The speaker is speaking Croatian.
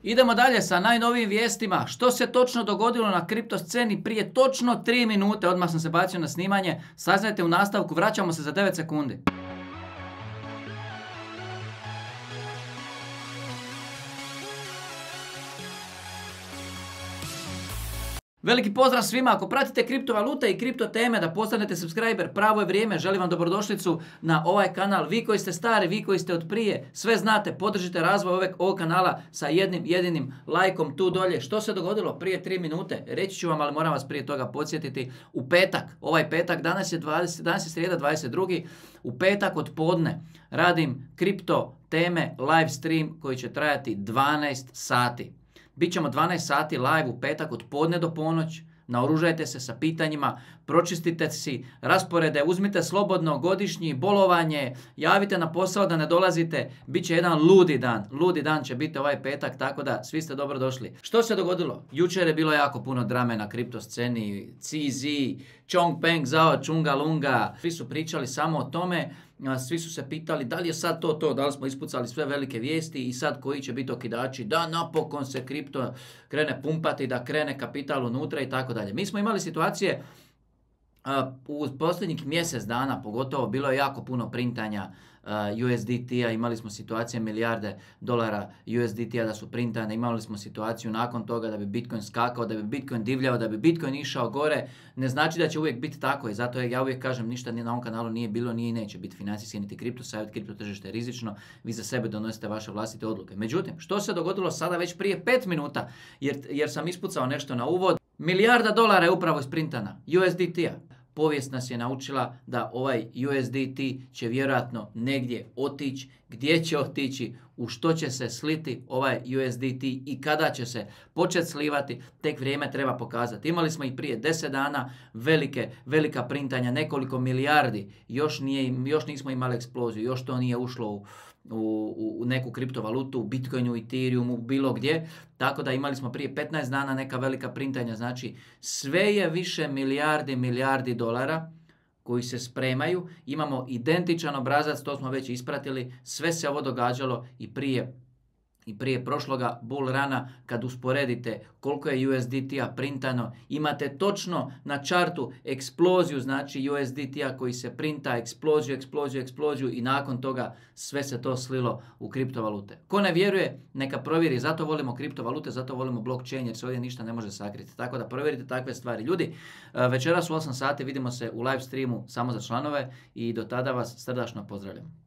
Idemo dalje sa najnovijim vijestima. Što se točno dogodilo na kripto sceni prije točno 3 minute? Odmah sam se bacio na snimanje. Saznajte u nastavku, vraćamo se za 9 sekundi. Veliki pozdrav svima, ako pratite kriptovalute i kripto teme da postanete subscriber, pravo je vrijeme, želim vam dobrodošlicu na ovaj kanal. Vi koji ste stari, vi koji ste od prije, sve znate, podržite razvoj ovog kanala sa jednim jedinim lajkom tu dolje. Što se dogodilo prije 3 minute? Reći ću vam, ali moram vas prije toga podsjetiti. U petak, ovaj petak, danas je srijeda 22. U petak od podne radim kripto teme live stream koji će trajati 12 sati. Bićemo 12 sati live u petak od podne do ponoć. Naoružajte se sa pitanjima, pročistite si rasporede, uzmite slobodno godišnji, bolovanje, javite na posao da ne dolazite. Biće jedan ludi dan će biti ovaj petak, tako da svi ste dobro došli. Što se dogodilo? Jučer je bilo jako puno drame na kripto sceni, CZ, Chongpeng, Zhao, Chunga Lunga, svi su pričali samo o tome. Svi su se pitali da li je sad to, da li smo ispucali sve velike vijesti i sad koji će biti okidači, da napokon se kripto krene pumpati, da krene kapital unutra i tako dalje. Mi smo imali situacije u posljednjih mjesec dana, pogotovo bilo je jako puno printanja USDT-a, imali smo situacije milijarde dolara USDT-a da su printane, imali smo situaciju nakon toga da bi Bitcoin skakao, da bi Bitcoin divljao, da bi Bitcoin išao gore. Ne znači da će uvijek biti tako i zato ja uvijek kažem ništa na ovom kanalu nije bilo, nije i neće biti financijski niti kripto savjet, kripto tržište je rizično, vi za sebe donosite vaše vlastite odluke. Međutim, što se dogodilo sada već prije 5 minuta, jer sam ispucao nešto na uvod, milijarda dolara je upravo isprintana USDT-a. Povijest nas je naučila da ovaj USDT će vjerojatno negdje otići, gdje će otići, u što će se sliti ovaj USDT i kada će se početi slivati, tek vrijeme treba pokazati. Imali smo i prije 10 dana velika printanja, nekoliko milijardi, još nismo imali eksploziju, još to nije ušlo u neku kriptovalutu, u Bitcoinu, Ethereumu, bilo gdje. Tako da imali smo prije 15 dana neka velika printanja. Znači sve je više milijardi dolara koji se spremaju. Imamo identičan obrazac, to smo već ispratili. Sve se ovo događalo i prije prošloga bull rana. Kad usporedite koliko je USDT-a printano, imate točno na čartu eksploziju, znači USDT-a koji se printa, eksploziju i nakon toga sve se to slilo u kriptovalute. Ko ne vjeruje, neka provjeri, zato volimo kriptovalute, zato volimo blockchain jer se ovdje ništa ne može sakriti. Tako da provjerite takve stvari. Ljudi, večeras u 8 sati vidimo se u live streamu samo za članove i do tada vas srdačno pozdravljam.